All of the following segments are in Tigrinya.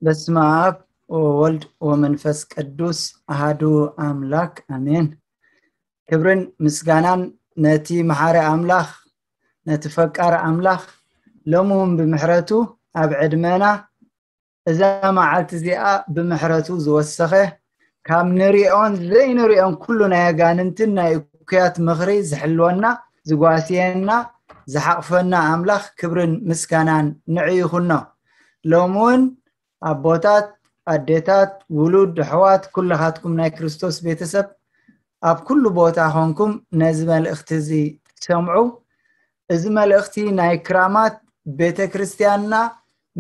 በስመ አብ ወወልድ ወመንፈስ ቅዱስ አሃዱ አምላክ አሜን። ክብርን ምስጋናን ነቲ መሓሪ ኣምላኽ፣ ነቲ ፈቃር ኣምላኽ፣ ሎሚ እውን ብምሕረቱ ኣብ ዕድመና እዛ መዓልቲ እዚኣ ብምሕረቱ ዝወሰኸ፣ ካብ ንሪኦን ዘይንሪኦን ኩሉ ናይ ኣጋንንትን ናይ እኩያት ምኽሪ ዝሕልወና፣ ዝጓስየና፣ ዝሓቕፈና ኣምላኽ ክብርን ምስጋናን ንዑ ይኹኖ። ሎሚ እውን ኣቦታት፣ ኣዴታት፣ ውሉድ፣ ኣሕዋት፣ ኩልኻትኩም ናይ ክርስቶስ ቤተሰብ ኣብ ኩሉ ቦታ ኾንኩም ነዚ መልእኽቲ እዚ ትሰምዑ። እዚ መልእኽቲ ናይ ክራማት ቤተ ክርስቲያንና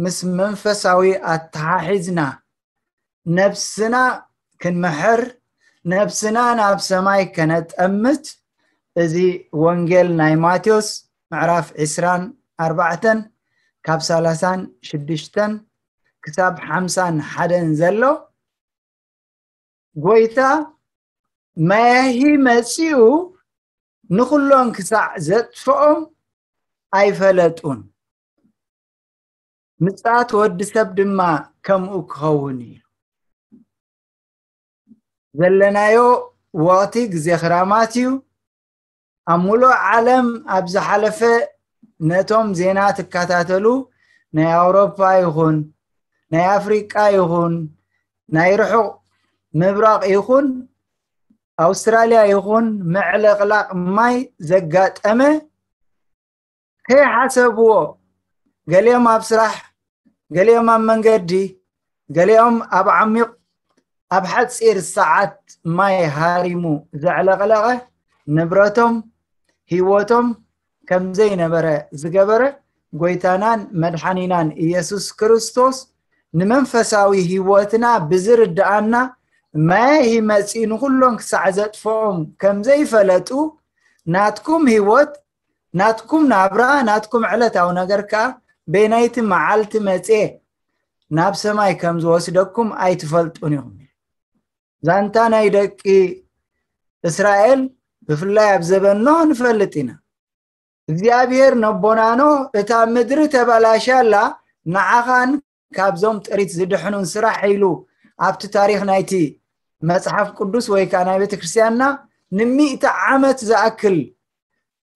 ምስ መንፈሳዊ ኣተሓሒዝና ነብስና ክንምሕር፣ ነብስና ናብ ሰማይ ከነጠምት፣ እዚ ወንጌል ናይ ማቴዎስ ምዕራፍ ዕስራን ኣርባዕተን ካብ ሰላሳን ሽዱሽተን ክሳብ ሓምሳን ሓደን ዘሎ፣ ጎይታ መያሂ መጺኡ ንኹሎም ክሳዕ ዘጥፍኦም ኣይፈለጡን። ምጽኣት ወዲ ሰብ ድማ ከምኡ ክኸውን እዩ። ዘለናዮ ወቕቲ ግዜ ክራማት እዩ። ኣብ ሙሉእ ዓለም ኣብ ዝሓለፈ ነቶም ዜና ትከታተሉ ናይ ኣውሮፓ ይኹን ናይ ኣፍሪቃ ይኹን ናይ ርሑቕ ምብራቕ ይኹን ኣውስትራልያ ይኹን ምዕልቕላቕ ማይ ዘጋጠመ ከይሓሰብዎ፣ ገሊኦም ኣብ ስራሕ፣ ገሊኦም ኣብ መንገዲ፣ ገሊኦም ኣብ ዓሚቕ፣ ኣብ ሓጺር ሰዓት ማይ ሃሪሙ ዘዕለቕለቐ፣ ንብረቶም፣ ህይወቶም ከም ዘይነበረ ዝገበረ፣ ጎይታናን መድሓኒናን ኢየሱስ ክርስቶስ ንመንፈሳዊ ህይወትና ብዝርድኣና፣ መያሂ መጺኡ ንኹሎም ክሳዕ ዘጥፍኦም ከም ዘይፈለጡ፣ ናትኩም ህይወት፣ ናትኩም ናብራ፣ ናትኩም ዕለታዊ ነገር ከኣ በየነይቲ መዓልቲ መጽኤ ናብ ሰማይ ከም ዝወስደኩም ኣይትፈልጡን ኢኹም። ዛንታ ናይ ደቂ እስራኤል ብፍላይ ኣብ ዘበን ኖህ ንፈልጥ ኢና። እግዚኣብሔር ነቦና ኖህ፣ "እታ ምድሪ ተበላሽያ ኣላ፣ ንዓኻን ካብዞም ጥሪት ዝድሕኑን ስራሕ" ኢሉ ኣብቲ ታሪኽ ናይቲ መጽሓፍ ቅዱስ ወይ ከኣ ናይ ቤተ ክርስቲያንና ንሚእቲ ዓመት ዝኣክል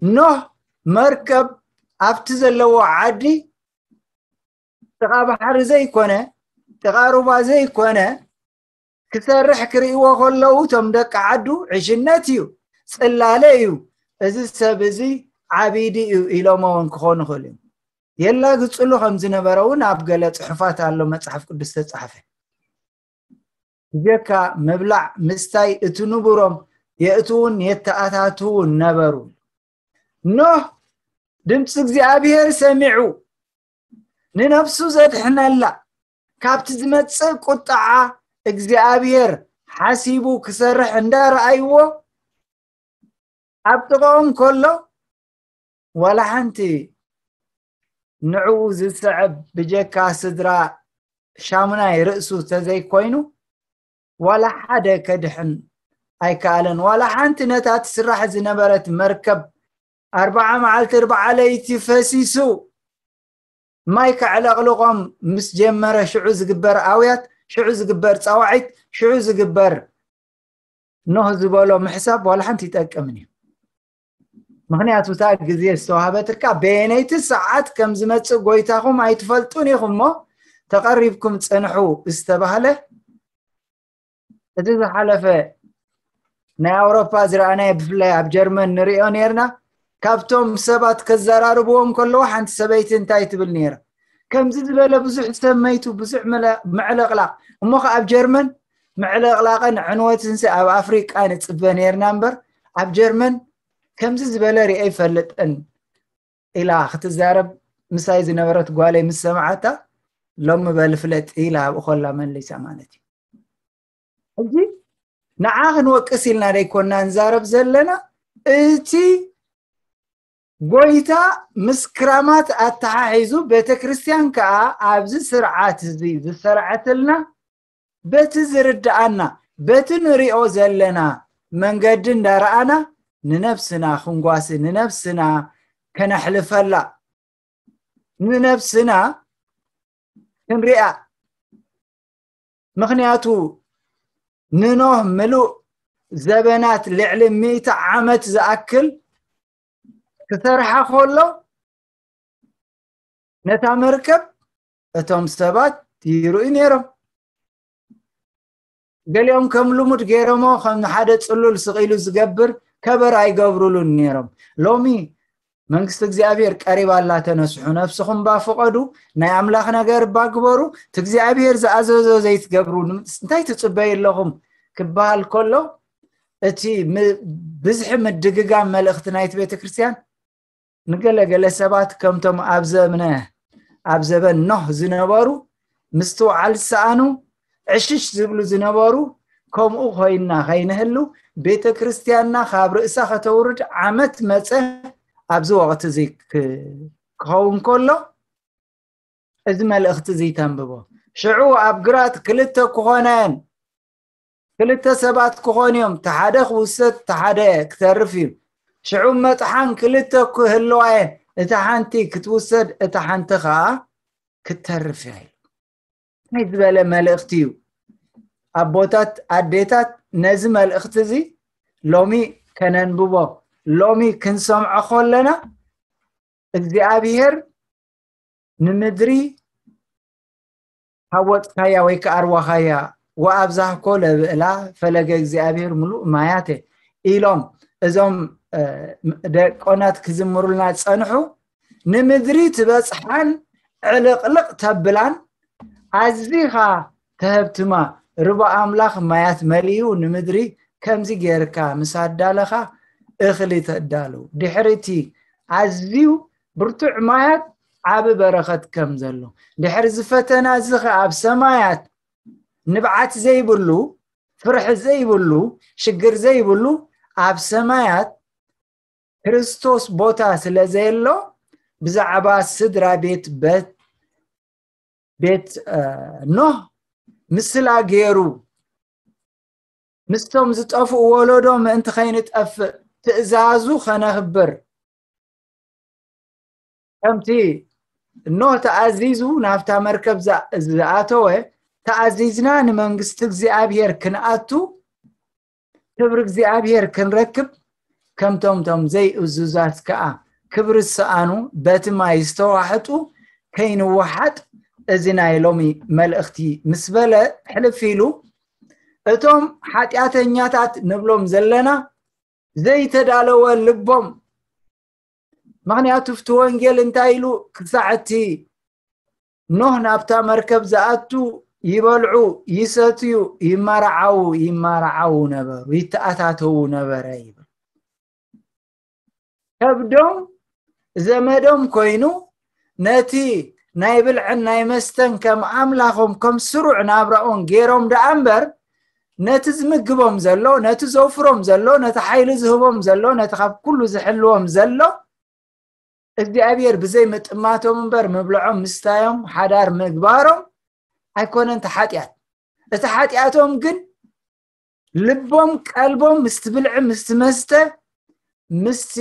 ኖህ መርከብ ኣብቲ ዘለዎ ዓዲ ጥቓ ባሕሪ ዘይኮነ፣ ጥቓ ሩባ ዘይኮነ፣ ክሰርሕ ክርእይዎ ከለዉ እቶም ደቂ ዓዱ ዕሽነት እዩ፣ ጽላለ እዩ፣ እዚ ሰብ እዚ ዓቢዲ እዩ ኢሎሞ እውን ክኾኑ ይኽእሉ እዮም። የላግጽሉ ከም ዝነበረ እውን ኣብ ገለ ጽሑፋት ኣሎ መጽሓፍ ቅዱስ ተጻሕፈ። ብጀካ ምብላዕ ምስታይ እቲ ንቡሮም የእትውን የተኣታትውን ነበሩ። ኖህ ድምፂ እግዚኣብሔር ሰሚዑ ንነፍሱ ዘድሕነላ ካብቲ ዝመጽእ ቁጥዓ እግዚኣብሔር ሓሲቡ ክሰርሕ እንዳረኣይዎ ኣብ ጥቕኦም ከሎ ዋላ ሓንቲ ንዕኡ ዝስዕብ ብጀካ ስድራ ሻሙናይ ርእሱ ተዘይኮይኑ ዋላ ሓደ ከድሕን ኣይከኣለን። ዋላ ሓንቲ ነታ ትስራሕ ዝነበረት መርከብ ኣርባዓ መዓልቲ ኣርባዓ ለይቲ ፈሲሱ ማይ ከዕለቕልቖም ምስ ጀመረ ሽዑ ዝግበር ኣውያት፣ ሽዑ ዝግበር ጻዋዒት፣ ሽዑ ዝግበር ኖህ ዝበሎ ምሕሳብ ዋላ ሓንቲ ይጠቅምን እዩ። ምኽንያቱ እታ ግዜ ዝተዋህበትካ በየነይቲ ሰዓት ከም ዝመጽእ ጎይታኹም ኣይትፈልጡን ኢኹም እሞ ተቐሪብኩም ጽንሑ ዝተባህለ እቲ ዝሓለፈ ናይ ኣውሮፓ ዝረኣናዮ ብፍላይ ኣብ ጀርመን ንሪኦ ነርና። ካብቶም ሰባት ከዘራርብዎም ከለዉ ሓንቲ ሰበይቲ እንታይ ትብል ነይራ? ከምዚ ዝበለ ብዙሕ ሰብ መይቱ፣ ብዙሕ መለ- ምዕልቕላቕ። እሞ ኸ ኣብ ጀርመን ምዕልቕላቕን ዕንወትን ሲ ኣብ ኣፍሪቃ ንጽበ ነርና እምበር ኣብ ጀርመን ከምዚ ዝበለ ሪአ ይፈልጥን ኢላ ክትዛረብ ምሳይ ዝነበረት ጓለይ ምስ ሰማዓታ ሎሚ በል ፍለጥ ኢላ ኣብኡ ኮላ መሊሳ ማለት እዩ። ሕጂ ንዓ ክንወቅስ ኢልና ደይኮና ንዛረብ ዘለና፣ እቲ ጎይታ ምስ ክራማት ኣተሓሒዙ ቤተ ክርስቲያን ከኣ ኣብዚ ስርዓት እዚ ዝሰርዐትልና በቲ ዝርድኣና በቲ ንሪኦ ዘለና መንገዲ እንዳረኣና ንነብስና ክንጓሲ ንነብስና ከነሕልፈላ ንነብስና ክንሪኣ ምኽንያቱ ንኖህ ምሉእ ዘበናት ልዕሊ ሚእቲ ዓመት ዝኣክል ክሰርሓ ከሎ ነታ መርከብ እቶም ሰባት ይርእዩ ነይሮም። ገሊኦም ከም ልሙድ ገይሮሞ ከም ሓደ ጽሉል ስቕ ኢሉ ዝገብር ከበር ኣይገብሩሉን ነይሮም። ሎሚ መንግስቲ እግዚኣብሔር ቀሪባ ኣላ፣ ተነስሑ፣ ነፍስኹም ባ ፍቐዱ፣ ናይ ኣምላኽ ነገር ባ ግበሩ፣ እቲ እግዚኣብሔር ዝኣዘዞ ዘይትገብሩ እንታይ ትጽበዩ ኣለኹም ክበሃል ከሎ እቲ ም- ብዝሒ ምድግጋም መልእኽቲ ናይቲ ቤተ ክርስቲያን ንገለገለ ሰባት ከምቶም ኣብ ዘብነ ኣብ ዘበን ኖህ ዝነበሩ ምስትውዓል ዝሰኣኑ ዕሽሽ ዝብሉ ዝነበሩ ከምኡ ኮይና ከይንህሉ ቤተ ክርስቲያንና ካብ ርእሳ ከተውርድ ዓመት መጸ ኣብዚ ወቕቲ እዚ ክ- ክኸውን ከሎ እዚ መልእኽቲ እዚ ተንብቦ። ሽዑ ኣብ ግራት ክልተ ክኾነን ክልተ ሰባት ክኾኑ እዮም፣ እቲ ሓደ ክውሰድ እቲ ሓደ ክተርፍ እዩ። ሽዑ መጥሓን ክልተ ክህልዋ እየን፣ እታ ሓንቲ ክትውሰድ እታ ሓንቲ ከዓ ክትተርፍ እያ ኢሉ። እንታይ ዝበለ መልእኽቲ እዩ? ኣቦታት ኣዴታት ነዚ መልእኽቲ እዚ ሎሚ ከነንብቦ ሎሚ ክንሰምዖ ከለና እግዚኣብሔር ንምድሪ ሃወጥካያ ወይ ከዓ ኣርዋኻያ ወኣብዛህኮ ለብእላ ፈለገ እግዚኣብሔር ምሉእ ማያተ ኢሎም እዞም ደቆናት ክዝምሩልና ዝጸንሑ ንምድሪ ትበጽሓን ዕልቕልቕ ተብላን ኣዚኻ ተህብትማ ርባ ኣምላኽ ማያት መሊኡ ንምድሪ ከምዚ ጌርካ ምስ ኣዳለኻ እኽሊ ተዳሉ ድሕርቲ ኣዝዩ ብርቱዕ ማያት ዓቢ በረኸት ከም ዘሎ ድሕሪ ዝፈተና እዚ ኸ ኣብ ሰማያት ንብዓት ዘይብሉ ፍርሒ ዘይብሉ ሽግር ዘይብሉ ኣብ ሰማያት ክርስቶስ ቦታ ስለ ዘየሎ ብዛዕባ ስድራ ቤት በት ቤት ኖህ ምስላ ገይሩ ምስቶም ዝጠፍኡ ወለዶ ምእንቲ ከይንጠፍእ ትእዛዙ ከነኽብር ከምቲ ኖህ ተኣዚዙ ናብታ መርከብ ዝኣተወ ተኣዚዝና ንመንግስቲ እግዚኣብሔር ክንኣቱ ክብሪ እግዚኣብሔር ክንረክብ ከምቶም ቶም ዘይእዙዛት ከዓ ክብሪ ዝሰኣኑ በቲ ማይ ዝተዋሕጡ ከይንወሓጥ እዚ ናይ ሎሚ መልእኽቲ ምስ በለ ሕልፍ ኢሉ እቶም ሓጢኣተኛታት ንብሎም ዘለና ዘይተዳለወ ልቦም ምኽንያቱ እቲ ወንጌል እንታይ ኢሉ ክሳዕ እቲ ኖህ ናብታ መርከብ ዝኣቱ ይበልዑ ይሰትዩ ይመርዓዉ ይመርዓዉ ነበሩ ይተኣታተዉ ነበረ ይብል ከብዶም ዘመዶም ኮይኑ ነቲ ናይ ብልዕን ናይ መስተን ከም ኣምላኾም ከም ስሩዕ ናብራኦም ገይሮም ደኣ እምበር ነቲ ዝምግቦም ዘሎ ነቲ ዘውፍሮም ዘሎ ነቲ ሓይሊ ዝህቦም ዘሎ ነቲ ካብ ኩሉ ዝሕልዎም ዘሎ እግዚኣብሔር ብዘይ ምጥማቶም እምበር ምብልዖም ምስታዮም ሓዳር ምግባሮም ኣይኮነን እቲ ሓጢኣት እቲ ሓጢኣቶም ግን ልቦም ቀልቦም ምስቲ ብልዒ ምስቲ መስተ ምስቲ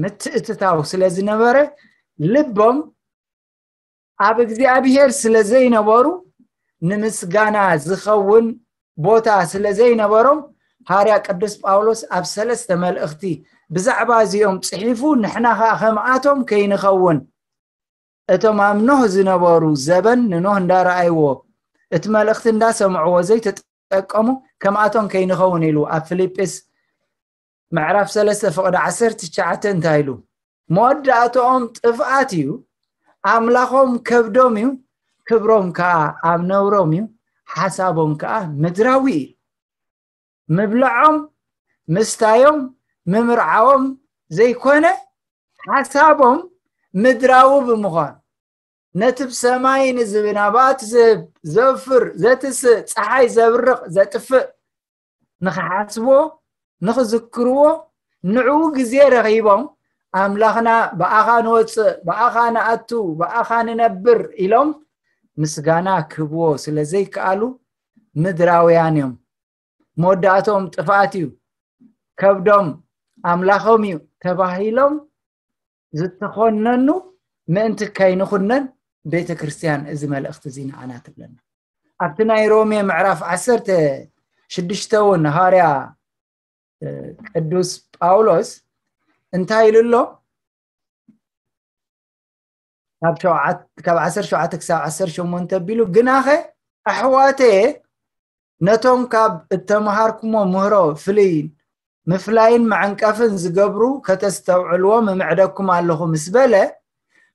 ምትእትታው ስለ ዝነበረ ልቦም ኣብ እግዚኣብሔር ስለ ዘይነበሩ ንምስጋና ዝኸውን ቦታ ስለ ዘይነበሮም ሃርያ ቅዱስ ጳውሎስ ኣብ ሰለስተ መልእኽቲ ብዛዕባ እዚኦም ጽሒፉ ንሕና ኸዓ ከምኣቶም ከይንኸውን እቶም ኣብ ኖህ ዝነበሩ ዘበን ንኖህ እንዳረኣይዎ እቲ መልእኽቲ እንዳሰምዕዎ ዘይተጠቀሙ ከምኣቶም ከይንኸውን ኢሉ ኣብ ፊልጲስ ምዕራፍ ሰለስተ ፍቕዲ ዓሰርተ ትሽዓተ እንታይ ኢሉ መወዳእትኦም ጥፍኣት እዩ ኣምላኾም ከብዶም እዩ ክብሮም ከዓ ኣብ ነውሮም እዩ ሓሳቦም ከዓ ምድራዊ እዩ ምብልዖም ምስታዮም ምምርዓዎም ዘይኮነ ሓሳቦም ምድራዊ ብምዃኑ ነቲ ብሰማይ ንዝናባት ዝህብ ዘፍር ዘትስእ ፀሓይ ዘብርቕ ዘጥፍእ ንኽሓስብዎ ንኽዝክርዎ ንዕኡ ግዜ ረኺቦም ኣምላኽና ብኣኻ ንወፅእ ብኣኻ ንኣቱ ብኣኻ ንነብር ኢሎም ምስጋና ክህብዎ ስለ ዘይከኣሉ ምድራውያን እዮም መወዳእቶም ጥፍኣት እዩ ከብዶም ኣምላኾም እዩ ተባሂሎም ዝተኾነኑ ምእንቲ ከይንኹነን ቤተ ክርስቲያን እዚ መልእኽቲ እዚ ንዓና ትብለና ኣብቲ ናይ ሮሜ ምዕራፍ ዓሰርተ ሽዱሽተ እውን ሃዋርያ ቅዱስ ጳውሎስ እንታይ ኢሉ ኣሎ? ካብ ዓሰርተ ሸውዓተ ክሳብ ዓሰርተ ሸሞንተ ኣቢሉ፣ ግናኸ ኣሕዋተየ፣ ነቶም ካብ እተምሃርኩሞ ምህሮ ፍልይ ምፍላይን መዐንቀፍን ዝገብሩ ከተስተውዕልዎም እምዕደኩም ኣለኹ ምስ በለ፣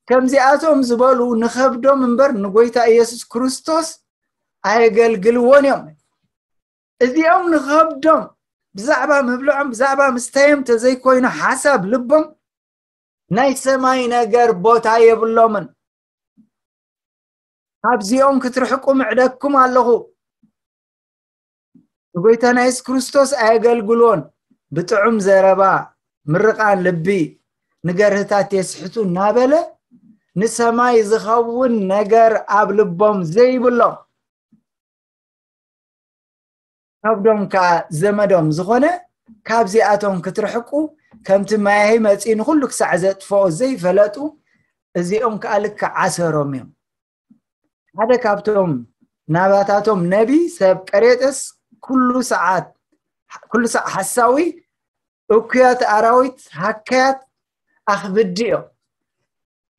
ከምዚኣቶም ዝበሉ ንኸብዶም እምበር ንጎይታ ኢየሱስ ክርስቶስ ኣየገልግልዎን እዮም። እዚኦም ንኸብዶም ብዛዕባ ምብልዖም ብዛዕባ ምስተዮም ተዘይኮይኑ ሓሳብ ልቦም ናይ ሰማይ ነገር ቦታ የብሎምን። ካብዚኦም ክትርሕቁ ምዕደኩም ኣለኹ። ንጎይታና የሱስ ክርስቶስ ኣየገልግልዎን። ብጥዑም ዘረባ ምርቓን ልቢ ንገርህታት የስሕቱ እናበለ ንሰማይ ዝኸውን ነገር ኣብ ልቦም ዘይብሎም ከብዶም ከኣ ዘመዶም ዝኾነ ካብዚኣቶም ክትርሕቁ ከምቲ ማያሂ መጺኡ ንኹሉ ክሳዕ ዘጥፍኦ ዘይፈለጡ እዚኦም ከኣ ልክዕ ዓሰሮም እዮም። ሓደ ካብቶም ናባታቶም ነቢ ሰብ ቀሬጥስ ኩሉ ሰዓት ኩሉ ሳዕ ሓሳዊ እኩያት ኣራዊት ሃካያት ኣኽብዲ እዮም።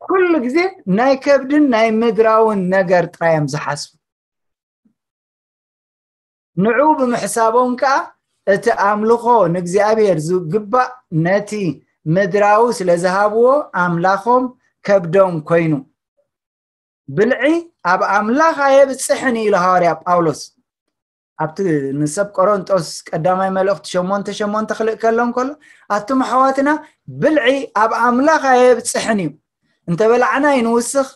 ኩሉ ግዜ ናይ ከብድን ናይ ምድራውን ነገር ጥራይ እዮም ዝሓስቡ። ንዑ ብምሕሳቦም ከኣ እቲ ኣምልኾ ንእግዚኣብሔር ዝግባእ ነቲ ምድራዊ ስለ ዝሃብዎ ኣምላኾም ከብዶም ኮይኑ። ብልዒ ኣብ ኣምላኽ ኣየብጽሕን ኢሉ ሃዋርያ ጳውሎስ ኣብቲ ንሰብ ቆሮንጦስ ቀዳማይ መልእኽቲ ሸሞንተ ሸሞንተ ክልእ ከሎ እንከሎ ኣቱም ኣሕዋትና ብልዒ ኣብ ኣምላኽ ኣየብጽሕን እዩ። እንተበላዕና ኣይንውስኽ፣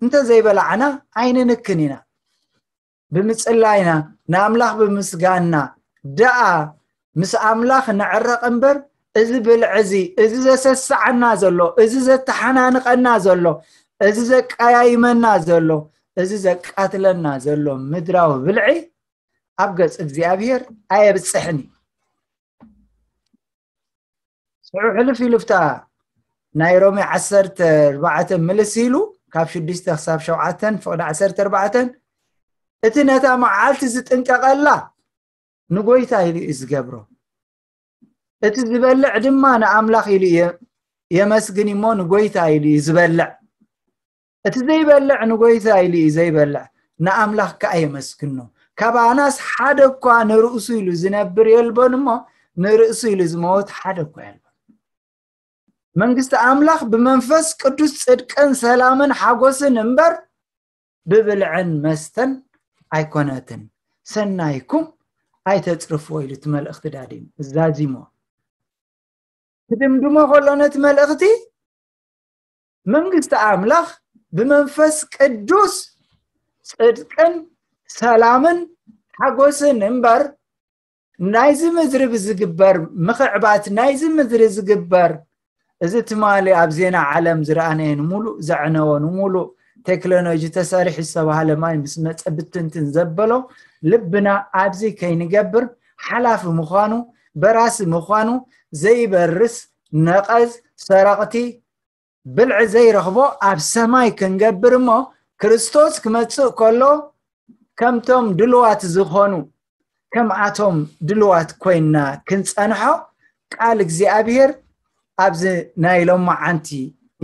እንተዘይበላዕና ኣይንንክን ኢና። ብምጽላይና ንኣምላኽ ብምስጋንና ደኣ ምስ ኣምላኽ ንዕረቕ እምበር እዚ ብልዒ እዚ እዚ ዘሰስዓና ዘሎ እዚ ዘተሓናንቐና ዘሎ እዚ ዘቀያይመና ዘሎ እዚ ዘቃትለና ዘሎ ምድራዊ ብልዒ ኣብ ገጽ እግዚኣብሔር ኣየብጽሕን እዩ። ሽዑ ሕልፍ ኢሉ ፍታ ናይ ሮሜ ዓሰርተ ኣርባዕተ ምልስ ኢሉ ካብ ሽዱሽተ ክሳብ ሸውዓተ ፍቕዲ ዓሰርተ ኣርባዕተ እቲ ነታ መዓልቲ ዝጥንቀቐላ ንጎይታ ኢሉ እዩ ዝገብሮ። እቲ ዝበልዕ ድማ ንኣምላኽ ኢሉ የመስግን እሞ ንጎይታ ኢሉ እዩ ዝበልዕ። እቲ ዘይበልዕ ንጎይታ ኢሉ እዩ ዘይበልዕ፣ ንኣምላኽ ከኣ የመስግኖ። ካባናስ ሓደ እኳ ንርእሱ ኢሉ ዝነብር የልቦን እሞ ንርእሱ ኢሉ ዝመወት ሓደ እኳ የልቦን። መንግስቲ ኣምላኽ ብመንፈስ ቅዱስ ጽድቅን ሰላምን ሓጎስን እምበር ብብልዕን መስተን ኣይኮነትን። ሰናይኩም ኣይተጽርፍዎ ኢሉ እቲ መልእኽቲ ዳዲሙ ዛዚሞ ክድምድሞ ከሎ ነቲ መልእኽቲ መንግስቲ ኣምላኽ ብመንፈስ ቅዱስ ጽድቅን ሰላምን ሓጎስን እምበር ናይዚ ምድሪ ብዝግበር ምኽዕባት ናይዚ ምድሪ ዝግበር እዚ ትማሊ ኣብ ዜና ዓለም ዝረኣናዮ ንሙሉእ ዘዕነዎ ንሙሉእ ቴክኖሎጂ ተሰሪሑ ዝተባሃለ ማይ ምስ መፀ ብትንትን ዘበሎ ልብና ኣብዚ ከይንገብር ሓላፊ ምዃኑ በራሲ ምዃኑ ዘይበርስ ነቐዝ ሰረቕቲ ብልዒ ዘይረኽቦ ኣብ ሰማይ ክንገብር እሞ ክርስቶስ ክመጽእ ከሎ ከምቶም ድልዋት ዝኾኑ ከምኣቶም ድልዋት ኮይንና ክንጸንሖ ቃል እግዚኣብሔር ኣብዚ ናይ ሎማዓንቲ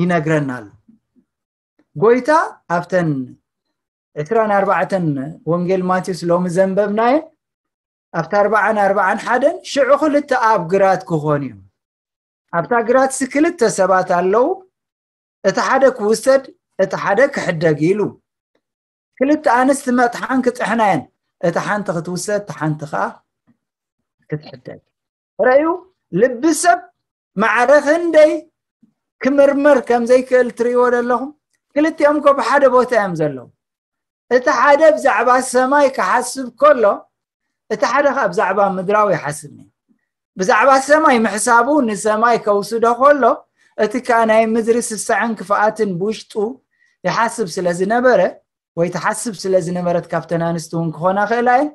ይነግረና ኣሎ። ጎይታ ኣብተን ዕስራን ኣርባዕተን ወንጌል ማቴዎስ ሎሚ ዘንበብናየን ኣብቲ ኣርባዓን ኣርባዓን ሓደን ሽዑ ክልተ ኣብ ግራት ክኾኑ እዮም። ኣብታ ግራትሲ ክልተ ሰባት ኣለዉ፣ እቲ ሓደ ክውሰድ እቲ ሓደ ክሕደግ ኢሉ። ክልተ ኣንስቲ መጥሓን ክጥሕና እየን፣ እታ ሓንቲ ክትውሰድ እታ ሓንቲ ከዓ ክትሕደግ። ረእዩ ልቢ ሰብ ማዕረ ክንደይ ክምርመር ከም ዘይክእል ትርእይዎ ዘለኹም። ክልቲኦም እኮ ብሓደ ቦታ እዮም ዘለዉ። እቲ ሓደ ብዛዕባ ሰማይ ክሓስብ ከሎ እቲ ሓደ ከዓ ብዛዕባ ምድራዊ ይሓስብ ነይሩ። ብዛዕባ ሰማይ ምሕሳቡ ንሰማይ ከውስዶ ከሎ እቲ ከዓ ናይ ምድሪ ስስዐን ክፍኣትን ብውሽጡ ይሓስብ ስለ ዝነበረ ወይ ትሓስብ ስለ ዝነበረት ካብተን ኣንስቲ እውን ክኾና ክእላ እየን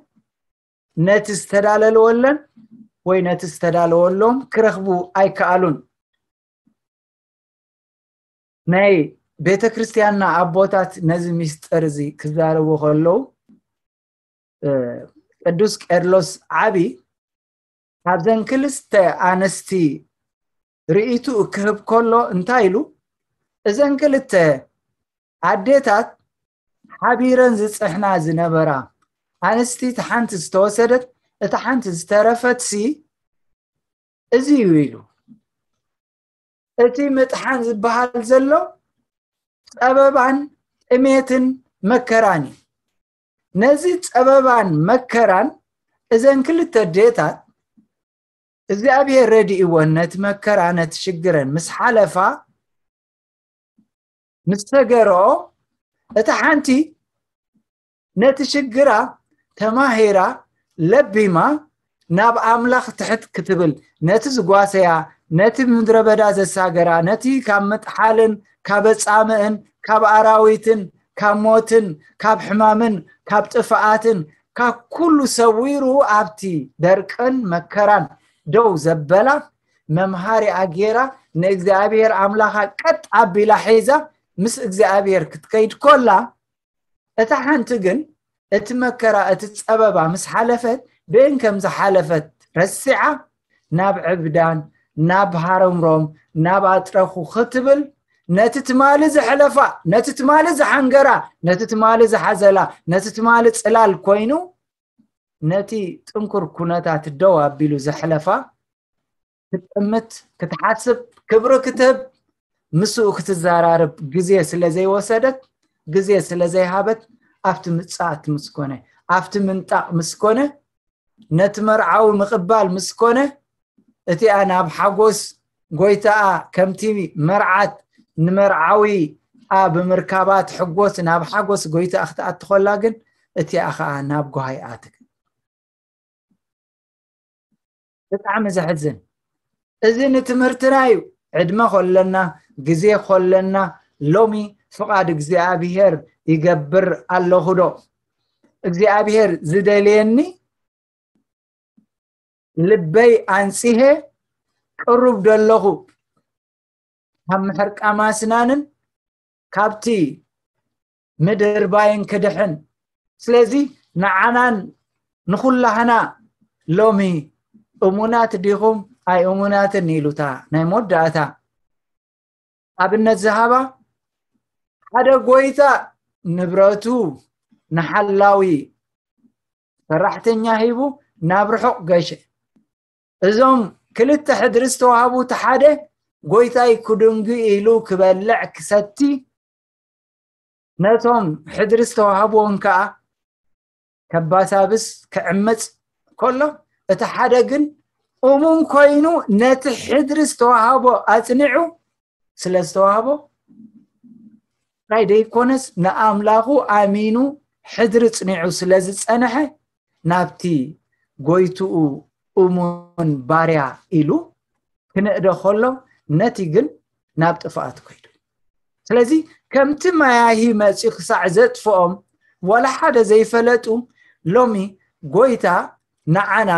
ነቲ ዝተዳለልወለን ወይ ነቲ ዝተዳለወሎም ክረኽቡ ኣይከኣሉን። ናይ ቤተ ክርስቲያንና ኣቦታት ነዚ ሚስጥር እዚ ክዛረቡ ከለዉ ቅዱስ ቄርሎስ ዓቢ ካብዘን ክልተ ኣንስቲ ርእይትኡ ክህብ ከሎ እንታይ ኢሉ? እዘን ክልተ ኣዴታት ሓቢረን ዝጽሕና ዝነበራ ኣንስቲ፣ እቲ ሓንቲ ዝተወሰደት፣ እቲ ሓንቲ ዝተረፈት ሲ እዚ እዩ ኢሉ። እቲ ምጥሓን ዝበሃል ዘሎ ጸበባን ጥሜትን መከራን እዩ። ነዚ ጸበባን መከራን እዘን ክልተ ኣዴታት እግዚኣብሔር ረድእወን ነቲ መከራ ነቲ ሽግረን ምስ ሓለፋ ምስ ተገርኦ፣ እታ ሓንቲ ነቲ ሽግራ ተማሂራ ለቢማ ናብ ኣምላኽ ትሕት ክትብል፣ ነቲ ዝጓሰያ፣ ነቲ ምድረ በዳ ዘሳገራ፣ ነቲ ካብ ምጥሓልን ካብ ኣጻምእን ካብ ኣራዊትን ካብ ሞትን ካብ ሕማምን ካብ ጥፍኣትን ካብ ኩሉ ሰዊሩ ኣብቲ ደርቅን መከራን ደው ዘበላ መምሃሪኣ ጌራ ንእግዚኣብሔር ኣምላኻ ቀጥ ኣቢላ ሒዛ ምስ እግዚኣብሔር ክትከይድ ኮላ፣ እታ ሓንቲ ግን እቲ መከራ እቲ ጸበባ ምስ ሓለፈት ብእን ከም ዝሓለፈት ረሲዓ ናብ ዕብዳን ናብ ሃረምሮም ናብ ኣጥረኹ ክትብል ነቲ ትማሊ ዘሕለፋ ነቲ ትማሊ ዝሓንገራ ነቲ ትማሊ ዝሓዘላ ነቲ ትማሊ ጽላል ኮይኑ ነቲ ጥንኩር ኩነታት ደው ኣቢሉ ዘሕለፋ ክትጥምት ክትሓስብ ክብሪ ክትህብ ምስኡ ክትዘራርብ ግዜ ስለ ዘይወሰደት ግዜ ስለ ዘይሃበት ኣብቲ ምጽኣት ምስ ኮነ ኣብቲ ምንጣቕ ምስ ኮነ ነቲ መርዓዊ ምቕባል ምስ ኮነ እቲኣ ናብ ሓጎስ ጎይታኣ ከምቲ መርዓት ንመርዓዊ ኣ ብምርካባ ትሕጎስ ናብ ሓጎስ ጎይታኣ ክትኣትኾላ ግን እቲኣ ኸዓ ናብ ጓሃይ ኣትክ ብጣዕሚ ዘሕዝን እዚ ንትምህርትና እዩ ዕድመ ኮለና ግዜ ኮለና ሎሚ ፍቓድ እግዚኣብሔር ይገብር ኣለኹ ዶ እግዚኣብሔር ዝደልየኒ ልበይ ኣንጺሄ ቅሩብ ደለኹ ካብ ምሕርቃም ኣስናንን ካብቲ ምድርባይን ክድሕን ስለዚ ንዓናን ንኹላህና ሎሚ እሙናት ዲኹም ኣይ እሙናትን ኢሉታ ናይ መወዳእታ ኣብነት ዝሃባ ሓደ ጎይታ ንብረቱ ንሓላዊ ሰራሕተኛ ሂቡ ናብ ርሑቕ ገሸ እዞም ክልተ ሕድሪ ዝተዋህቡ እቲ ሓደ ጎይታይ ክድንጉ ኢሉ ክበልዕ ክሰቲ ነቶም ሕድሪ ዝተዋህብዎም ከዓ ከባሳብስ ክዕምፅ ከሎ እቲ ሓደ ግን እሙን ኮይኑ ነቲ ሕድሪ ዝተዋህቦ ኣፅኒዑ ስለ ዝተዋህቦ ናይ ደይኮነስ ንኣምላኹ ኣሚኑ ሕድሪ ፅኒዑ ስለ ዝፀንሐ ናብቲ ጎይትኡ እሙን ባርያ ኢሉ ክንእደ ከሎ ነቲ ግን ናብ ጥፍኣት ኮይዱ ስለዚ ከምቲ ማያሂ መፂኡ ክሳዕ ዘጥፍኦም ዋላ ሓደ ዘይፈለጡ ሎሚ ጎይታ ንዓና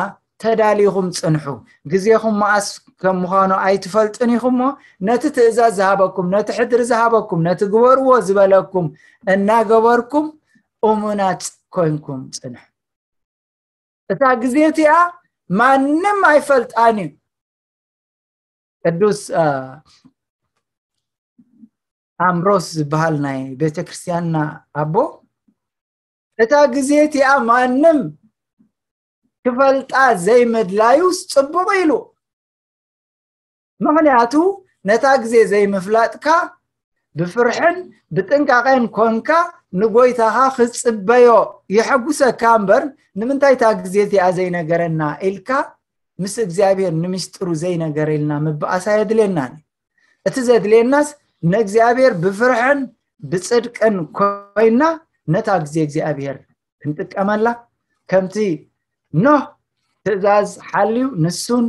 ተዳሊኹም ፅንሑ ግዜኹም መኣስ ከም ምዃኑ ኣይትፈልጡን ኢኹም እሞ ነቲ ትእዛዝ ዝሃበኩም ነቲ ሕድሪ ዝሃበኩም ነቲ ግበርዎ ዝበለኩም እናገበርኩም እሙናት ኮይንኩም ፅንሑ እታ ግዜ እቲኣ ማንም ኣይፈልጣን እዩ ቅዱስ ኣምብሮስ ዝበሃል ናይ ቤተክርስትያንና ኣቦ እታ ግዜ እቲኣ ማንም ክፈልጣ ዘይምድላዩስ ጽቡቕ ኢሉ ምኽንያቱ ነታ ግዜ ዘይምፍላጥካ ብፍርሕን ብጥንቃቐን ኮንካ ንጎይታኻ ክትጽበዮ የሐጉሰካ እምበር ንምንታይ እታ ግዜ እቲኣ ዘይነገረና ኢልካ ምስ እግዚኣብሔር ንምስጢሩ ዘይነገረልና ምብኣስ ኣየድልየናን እዩ እቲ ዘድልየናስ ንእግዚኣብሔር ብፍርሕን ብጽድቅን ኮይና ነታ ግዜ እግዚኣብሔር ክንጥቀመላ ከምቲ ኖህ ትእዛዝ ሓልዩ ንሱን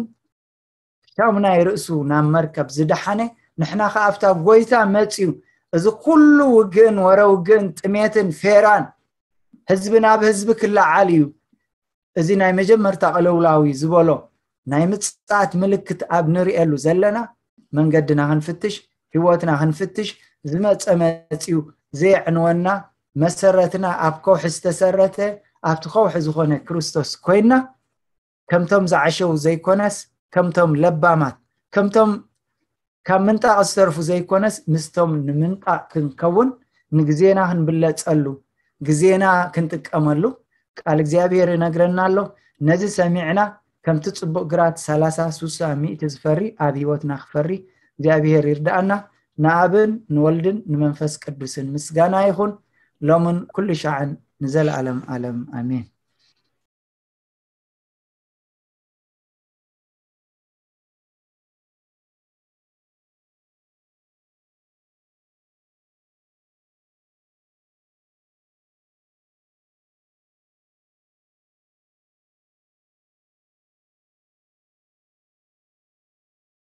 ሻሙናይ ርእሱ ናብ መርከብ ዝደሓነ ንሕና ከኣ ኣብታ ጎይታ መጽዩ እዚ ኩሉ ውግእን ወረ ውግእን ጥሜትን ፌራን ህዝቢ ናብ ህዝቢ ክለዓል እዩ እዚ ናይ መጀመርታ ቅልውላው እዩ ዝበሎ ናይ ምጽኣት ምልክት ኣብ ንርእየሉ ዘለና መንገድና ክንፍትሽ ህይወትና ክንፍትሽ ዝመጸ መጽዩ ዘየዕንወና መሰረትና ኣብ ከውሒ ዝተሰረተ ኣብቲ ከውሒ ዝኾነ ክርስቶስ ኮይና፣ ከምቶም ዝዓሸው ዘይኮነስ፣ ከምቶም ለባማት፣ ከምቶም ካብ ምንጣቕ ዝተርፉ ዘይኮነስ፣ ምስቶም ንምንጣቕ ክንከውን፣ ንግዜና ክንብለጸሉ፣ ግዜና ክንጥቀመሉ ቃል እግዚኣብሔር ይነግረና ኣሎ። ነዚ ሰሚዕና፣ ከምቲ ጽቡቕ ግራት ሰላሳ፣ ስሳ፣ ሚእቲ ዝፈሪ፣ ኣብ ህይወትና ክፈሪ እግዚኣብሔር ይርዳኣና። ንኣብን ንወልድን ንመንፈስ ቅዱስን ምስጋና ይኹን፣ ሎምን ኩሉ ሻዕን ንዘለኣለም ኣለም። ኣሜን።